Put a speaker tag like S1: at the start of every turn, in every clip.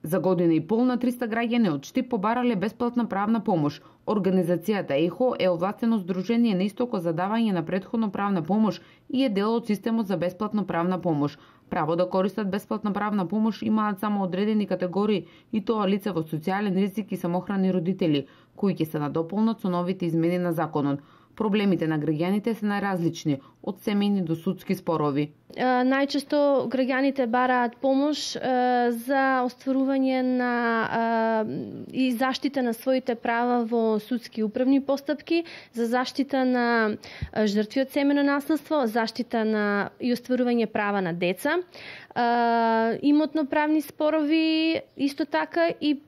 S1: За година и пол на 300 граѓани од Штип побарале бесплатна правна помош. Организацијата ЕХО е овластено здружение на истоко за давање на претходно правна помош и е дел од системот за бесплатна правна помош. Право да користат бесплатна правна помош имаат само одредени категории, и тоа лица во социјален ризик и самохрани родители, кои ќе се надополнат со новите измени на законот. Проблемите на граѓаните се најразлични, од семејни до судски спорови.
S2: Најчесто граѓаните бараат помош за остварување на и заштита на своите права во судски и управни постапки, за заштита на жртви од семејно наследство, заштита на и остварување права на деца, имотно-правни спорови, исто така и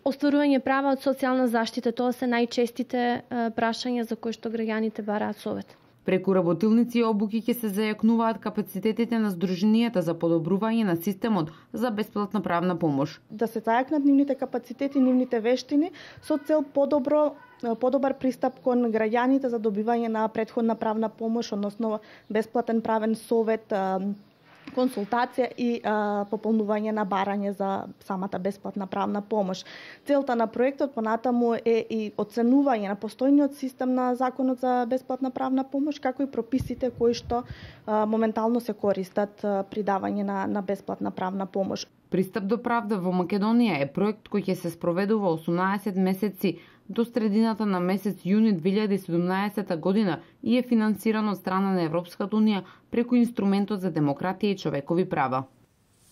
S2: остварување права од социјална заштита. Тоа се најчестите прашања за кои што граѓаните бараат совет.
S1: Преку работилници и обуки ќе се зајакнуваат капацитетите на здруженијата за подобрување на системот за бесплатна правна помош.
S3: Да се зајакнат нивните капацитети, нивните вештини со цел подобар пристап кон граѓаните за добивање на претходна правна помош, односно бесплатен правен совет, консултација и пополнување на барање за самата бесплатна правна помош. Целта на проектот понатаму е и оценување на постојниот систем на Законот за бесплатна правна помош, како и прописите кои што моментално се користат при давање на бесплатна правна помош.
S1: Пристап до правда во Македонија е проект кој ќе се спроведува 18 месеци до средината на месец јуни 2017 година и е финансиран од страна на Европската унија преку инструментот за демократија и човекови права.